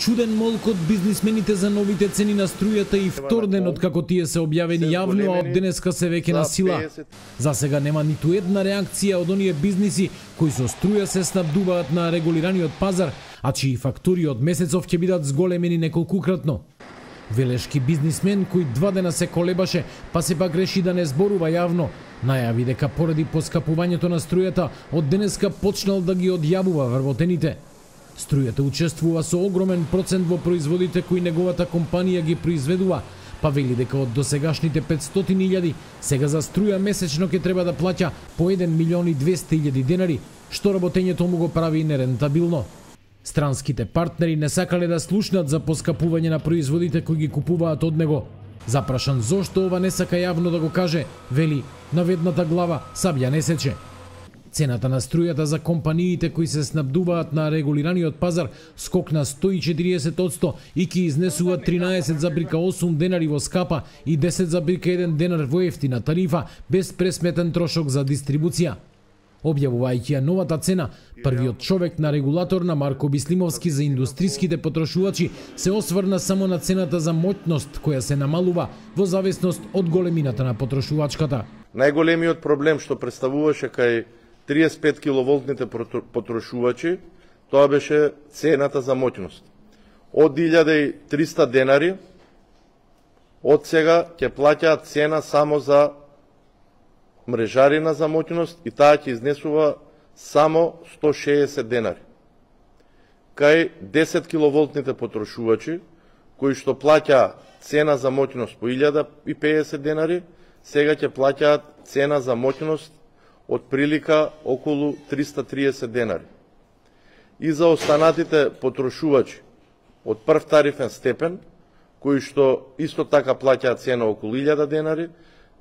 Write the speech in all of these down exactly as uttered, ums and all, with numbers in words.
чуден молк од бизнисмените за новите цени на струјата и втор ден од како тие се објавени јавно, а од денеска се веќе на сила. За сега нема ниту една реакција од оние бизниси кои со струја се снабдуваат на регулираниот пазар, а чии фактури од месецов ќе бидат зголемени неколкукратно. Велешки бизнисмен кој два дена се колебаше, па сепак реши да не зборува јавно, најави дека поради поскапувањето на струјата од денеска почнал да ги одјавува вработените. Струјата учествува со огромен процент во производите кои неговата компанија ги произведува, па вели дека од досегашните петстотини илјади, сега за струја месечно ќе треба да плаќа по еден милион и двесте илјади денари, што работењето му го прави нерентабилно. Странските партнери не сакале да слушнат за поскапување на производите кои ги купуваат од него. Запрашан зошто ова не сака јавно да го каже, вели, наведната глава сабја не сече. Цената на струјата за компаниите кои се снабдуваат на регулираниот пазар скокна сто и четириесет одсто и ќе изнесува тринаесет зарез осум денари во скапа и десет зарез еден денар во ефтина тарифа без пресметен трошок за дистрибуција. Објавувајќи ја новата цена, првиот човек на регулаторна Марко Бислимовски за индустриските потрошувачи се осврна само на цената за моќност која се намалува во зависност од големината на потрошувачката. Најголемиот проблем што представуваше кај триесет и пет киловолтните потрошувачи, тоа беше цената за моќност. Од илјада и триста денари, од сега ќе плаќаат цена само за мрежарина за моќност и таа ќе изнесува само сто шеесет денари. Кај десет киловолтните потрошувачи, кои што плаќа цена за моќност по илјада и педесет денари, сега ќе плаќаат цена за моќност од прилика околу триста и триесет денари. И за останатите потрошувачи од прв тарифен степен, кои што исто така плаќаат цена околу илјада денари,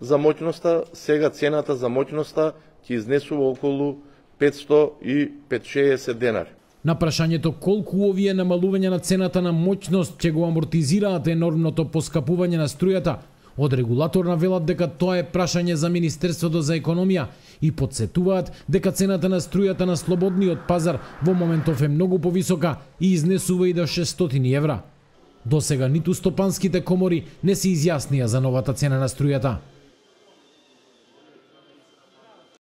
за моќноста, сега цената за моќноста ќе изнесува околу петсто и петшеесет денари. На прашањето колку овие намалување на цената на моќност ќе го амортизираат енормното поскапување на струјата, од регулаторна велат дека тоа е прашање за Министерството за економија и подсетуваат дека цената на струјата на слободниот пазар во моментов е многу повисока и изнесува и до шестстотини евра. Досега ниту стопанските комори не се изјаснија за новата цена на струјата.